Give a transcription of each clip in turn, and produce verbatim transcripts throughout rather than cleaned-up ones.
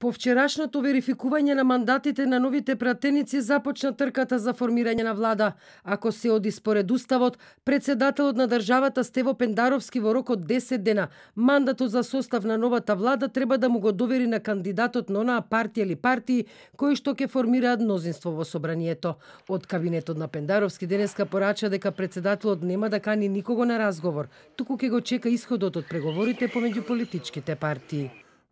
По вчерашното верификување на мандатите на новите пратеници започна трката за формирање на влада. Ако се оди според уставот, председателот на државата Стево Пендаровски во рок од десет дена мандатот за состав на новата влада треба да му го довери на кандидатот на онаа партија или партии кои што ќе формираат мнозинство во собранието. Од кабинетот на Пендаровски денеска порача дека председателот нема да кани никого на разговор, туку ќе го чека исходот од преговорите помеѓу политичките партии.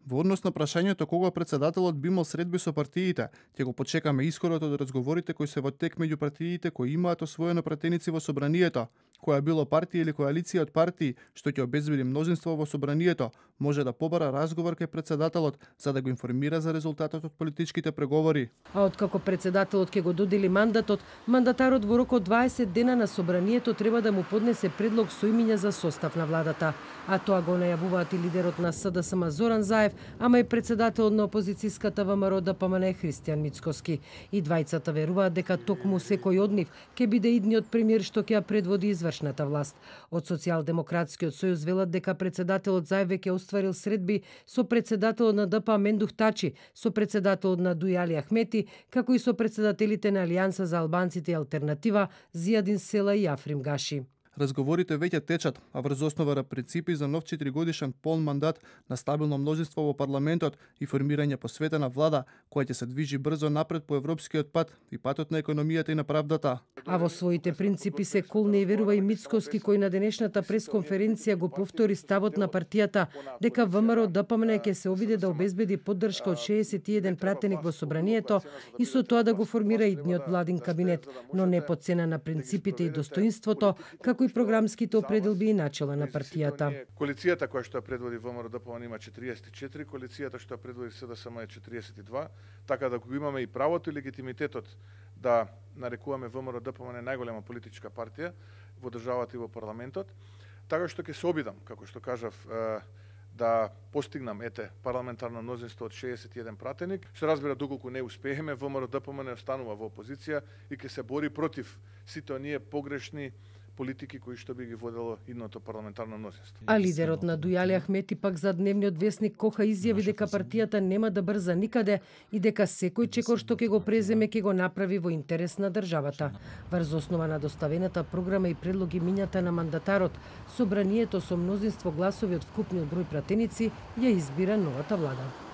Во однос на прашањето кога председателот би имал средби со партиите, ќе го почекаме исходот од разговорите кои се во тек меѓу партиите кои имаат освоено пратеници во собранието. Која било партија или коалиција од партии што ќе обезбеди мнозинство во собранието, може да побара разговор кај председателот за да го информира за резултатот од политичките преговори. А откако председателот ќе го додели мандатот, мандатарот во рок од дваесет дена на собранието треба да му поднесе предлог со имиња за состав на владата. А тоа го најавуваат и лидерот на СДСМ Зоран Заев, ама и председателот на опозицијската ВМРО ДПМН Христијан Мицкоски. И двајцата веруваат дека токму секој од нив ќе биде идниот премиер што ќе ја предводи извршната власт. Од Социјалдемократскиот сојуз велат дека председателот Заев веќе остварил средби со председателот на ДП Мендух Тачи, со председателот на Дујали Ахмети, како и со председателите на Алијанса за албанците и Алтернатива Зијадин Села и Африм Гаши. Разговорите веќе течат, а врз основа на принципи за нов четиригодишен полн мандат на стабилно мнозинство во парламентот и формирање посветена влада која ќе се движи брзо напред по европскиот пат и патот на економијата и на правдата. А во своите принципи се колне и верува и Мицкоски, кој на денешната пресконференција го повтори ставот на партијата дека ВМРО ДПМН ќе се обиде да обезбеди поддршка од шеесет и еден пратеник во собранието и со тоа да го формира идниот владин кабинет, но не по цена на принципите и достоинството, како и програмските определби и начела на партијата. Коалицијата која што ја предводи ВМРО ДПМН има четириесет и четири, коалицијата што ја предводи СДСМ е четириесет и два, така да го имаме и правото и легитимитетот да нарекуваме ВМРО ДПМН најголема политичка партија во државата и во парламентот, така што ќе се обидам, како што кажав, да постигнам ете парламентарно мнозинство од шеесет и еден пратеник, што разбира доколку не успееме, ВМРО ДПМН останува во опозиција и ќе се бори против сите оние погрешни политики кои што би ги водело идното парламентарно мнозинство. А лидерот на Дујали Ахмети пак за дневниот весник Коха изјави дека партијата нема да брза никаде и дека секој чекор што ќе го преземе ќе го направи во интерес на државата. Врз основа на доставената програма и предлоги мињата на мандатарот, собранието со мнозинство гласови од вкупниот број пратеници ја избира новата влада.